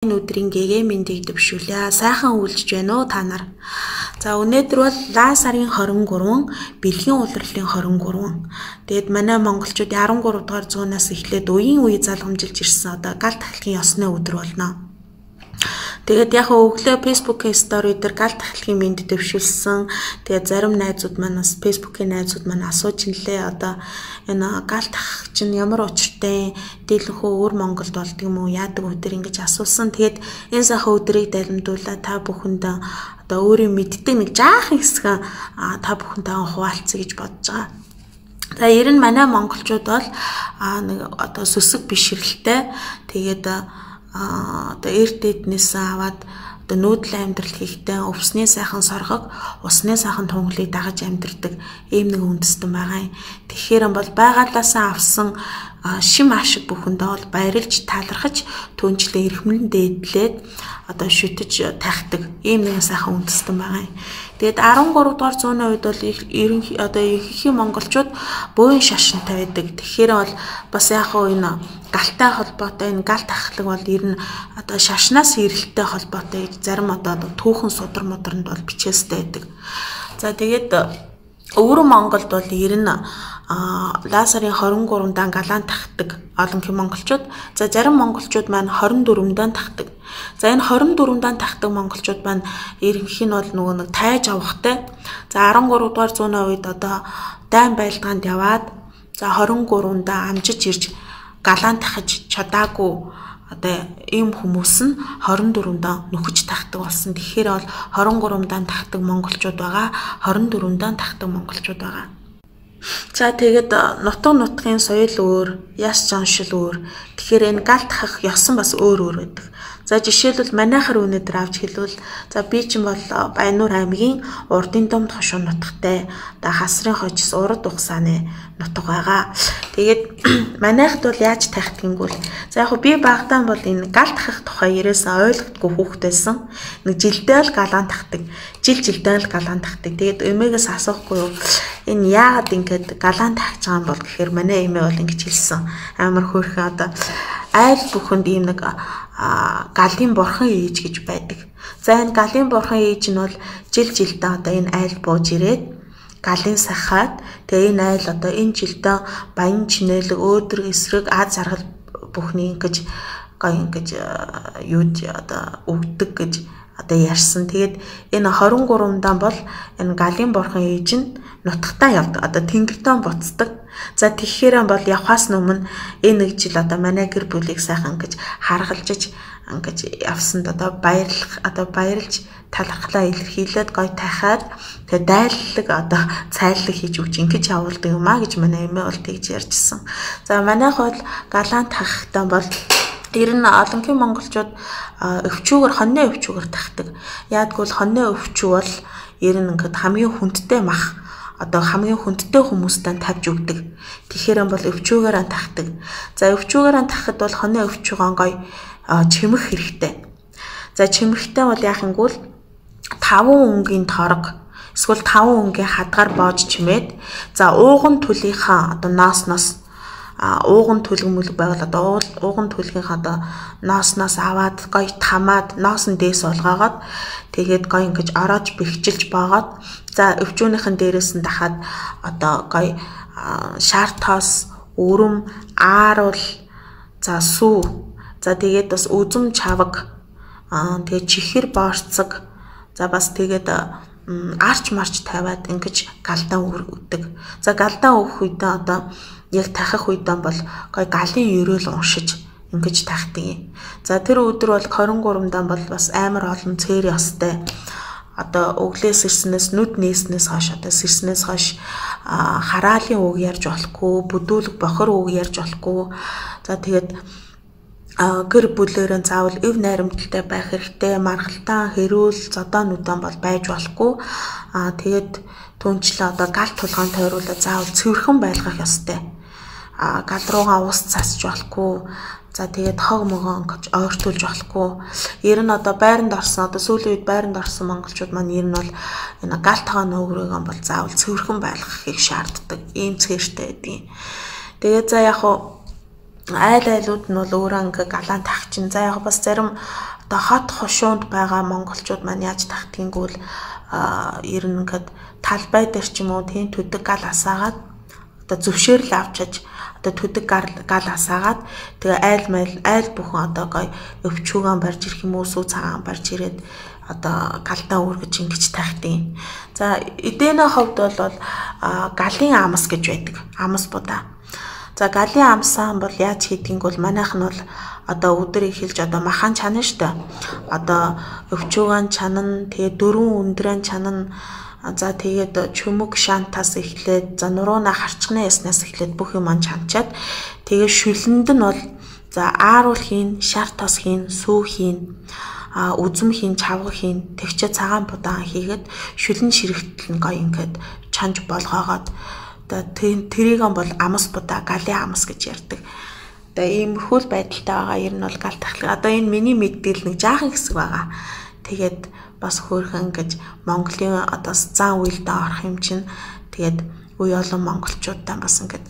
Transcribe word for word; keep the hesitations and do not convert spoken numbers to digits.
Энэ өдрийн гэгээ мэндийг дэвшүүлье. Сайхан үйлжж байна уу та нар? За өнөөдөр бол лаа сарын хорин гурав бэлгийн улирлын хорин гурав. Тэгэд манай монголчууд арван гурав дугаар зуунаас эхлээд үеийн үе залгамжилж ирсэн одоо гал тахлын ёсны өдөр болно. Тэгээд яг өглөө Facebook-ийн стори дээр гал тахлын мэнд дэвшүүлсэн. Тэгээд зарим найзууд манаас Facebook-ийн найзууд маань асууж инлээ одоо энэ гал тах чинь ямар учиртай дийлэнхүү өөр Монголд болдго юм уу яадаг өдөр ингэж асуусан. Тэгээд энэ сайхан өдрийг далимдуулаад та бүхэнд одоо өөрийн мэддэг нэг жаахан хэсэг та бүхэнтэй хуваалцъя гэж бодож байгаа. За ер нь манай монголчууд бол нэг одоо сүсэг бишрэлтэй тэгээд а одоо эрт эднээс аваад одоо нүүдэл амьдрал хийхдээ өвсний сайхан соргог, усны сайхан тунгалыг дагаж амьдрдаг ийм нэг үндэстэн байгаа юм. Тэгэхээр бол байгалаасаа авсан шим ашиг бүхэндээ бол баярлж талархаж түнчлээ эрхмэлэн дээдлээд одоо шүтэж тахдаг ийм нэг сайхан үндэстэн байгаа юм. Тэгээд арван гурав дугаар зууны үед бол ерөн одоо ихэнх монголчууд бөөн шашинтай байдаг. Тэгэхээр бол бас яг хөө энэ галтай холбоотой энэ гал тахлаг бол ер нь одоо шашнаас ирэлттэй холбоотой гэж зарим одоо түүхэн судар модорнд бол бичээстэй байдаг. За тэгээд өвөр Монголд бол ер нь лаа сарын хорин гуравдаа галаан тахдаг олон хэм монголчууд. За зарим монголчууд маань хорин дөрвөндөө тахдаг. За энэ хорин дөрвөндөө тахдаг монголчууд маань ерөнхий нь бол нөгөө нэг тайж авахтай. За арван гурав дугаар зууны үед одоо дайн байлгаанд яваад за хорин гуравдаа амжиж ирж галаан тахаж чадаагүй одоо ийм хүмүүс нь хорин дөрвөндөө нөхөж тахдаг болсон. Тэгэхээр бол хорин гуравдаа тахдаг монголчууд байгаа, хорин дөрвөндөө тахдаг монголчууд байгаа. За тэгээд нутаг нутгийн соёл өөр, яс жаншил өөр. Тэгэхээр энэ гал тахах ёсон бас өөр өөр байдаг. За жишээлбэл манайхаар өнөөдөр авч хэлвэл за би чинь бол Баяннуур аймгийн Урдын Домд хошуу нутагтай да хасрын хожис урд ухсааны нутаг байгаа. Тэгээд манайхд бол яаж тахдаг гэвэл за яг би багтаан бол энэ гал тахах тухай ерөөсөө ойлгохгүй хүүхэд байсан. Нэг жилдээ л галаан тахдаг. Жил жилдээ л галаан тахдаг. Тэгээд эмээгээс асуухгүй юу? Энэ яагаад ингэж галаан тахаж байгаа юм бол гэхээр манай эмээ бол ингэж хэлсэн. Амар хөөрхөн одоо айл бүхэнд ийм нэг галын бурхан ээж гэж байдаг. За энэ галын бурхан ээж нь бол жил жилдээ одоо энэ айл бууж ирээд галын сахаад тэгээ энэ айл одоо энэ жилдээ баян чинэлэг өөдрөг эсрэг аз жаргал бүхний ингэж гоо ингэж юуд одоо өгдөг гэж одоо ярьсан. Тэгээд энэ хорин гуравдаа бол энэ галын бурхан ээж нь нутагтаа явдаг. Одоо тэнгэртөө буцдаг. За тэгэхээр бол явхаас өмнө энэ нэг жил одоо манай гэр бүлийг сайхан ингэж харгалжиж ингэж явсанд одоо баярлах одоо баярлж талархлаа илэрхийлээд гой тахаад тэгээ дайллаг одоо цайллаг хийж өгч ингэж явуулдаг юм а гэж манай эмээ бол тэгж ярьжсэн. За манайх бол галаан тахахтаа бол ер нь олонхын монголчууд өвчүүгээр хоньны өвчүүгээр тахдаг. Яадгүй бол хоньны өвчүү бол ер нь ингээд хамгийн хүндтэй мах одоо хамгийн хүндтэй хүмүүстээ тавьж өгдөг. Тэгэхээр бол өвчүүгээр тахдаг. За өвчүүгээр тахахад бол хоньны өвчүүгөө гой чимэх хэрэгтэй. За чимэхтэй бол яахангүүл таван өнгийн торог эсвэл таван өнгийн хадгаар боож чимээд за ууган төлийнхаа одоо ноосноос ууган төлөг мүлэг байвал одоо ууган төлгийнхаа одоо ноосноос аваад гой тамаад ноос нь дээс болгоогоод тэгээд гой ингэж ороож бэхжилж боогоод за өвчүүнийхэн дээрээс нь дахаад одоо гой шаартоос өрөм ааруул за сүү за тэгээд бас үзэм чаваг аа тэгээд чихэр боорцог за бас тэгээд арч марч тавиад ингэж галдаа өгдөг. За галдаа өгөх үедээ одоо яг тахах үедээ бол гой галын ерөөл уншиж ингэж тахдаг юм. За тэр өдөр бол хорин гуравдаа бол бас амар олон цээр ёстой. Одоо өглөөс ирснээс нүд нээснээс хойш одоо сэрснээс хойш хараалын үг ярьж болохгүй, бүдүүлэг бохор үг ярьж болохгүй. За тэгээд гэр бүлээрээ заавал эв найрамдалтай байх хэрэгтэй. Маргалтаа хэрүүл зодоонуудаа бол байж болохгүй. Аа тэгээд түнчлээ одоо гал тулгаан тойруулаад заавал цэвэрхэн байлгах ёстой. А гал руугаа ус цасч болохгүй. За тэгээд хог могоо ингэж ойртуулж болохгүй. Ер нь одоо байранд орсон одоо сүүлийн үед байранд орсон монголчууд маань ер нь бол энэ гал тагааны өгрөөгөө бол заавал цэвэрхэн байлгахыг шаарддаг. Ийм цээртэй байдгийг. Тэгээд за яг хуу айл айлууд нь бол өөрөө ингээ галаан тах чинь. За яг бас зарим одоо хот хошуунд байгаа монголчууд маань яаж тахтгийгүүл ер нь ингээд талбай дээр ч юм уу тийм төдөг гал асаагаад одоо зөвшөөрөл авчиж одоо төдөг гал асаагаад тэгээ айл майл айл бүхэн одоо гоё өвчүүгэн барьж ирэх юм уу сүү цагаан барьж ирээд одоо галдаа үргэж ингэж тахтیں۔ За эдэнэ ховд бол галын амс гэж байдаг. Амс будаа. За галын амсаа бол яаж хийдгийг бол манайх нь бол одоо өдөр ихэлж одоо махан чанан штэ. Одоо өвчүүгэн чанан тэгээ дөрвөн өндрэн чанан за тэгээд чүмэг шантаас эхлээд за нурууна харчганы яснаас эхлээд бүх юм чанчаад тэгээ шүлэнд нь бол за ааруул хийн, шар тос хийн, сүү хийн, а үзэм хийн, чавга хийн, тэгчээ цагаан будаан хийгээд шүлэн ширхтэл нь гоё ингээд чанж болгоогоод одоо тэрийг бол амс будаа, галын амс гэж ярьдаг. Одоо иймэрхүү байдалтай байгаа ер нь бол гал тахлаа. Одоо энэ миний мэддээл нэг жаахан хэсэг байгаа. Тэгээд бас хөөрхөн гэж Монголын одоо зан үйлдэ орох юм чинь тэгээд үе олон монголчуудаа бас ингээд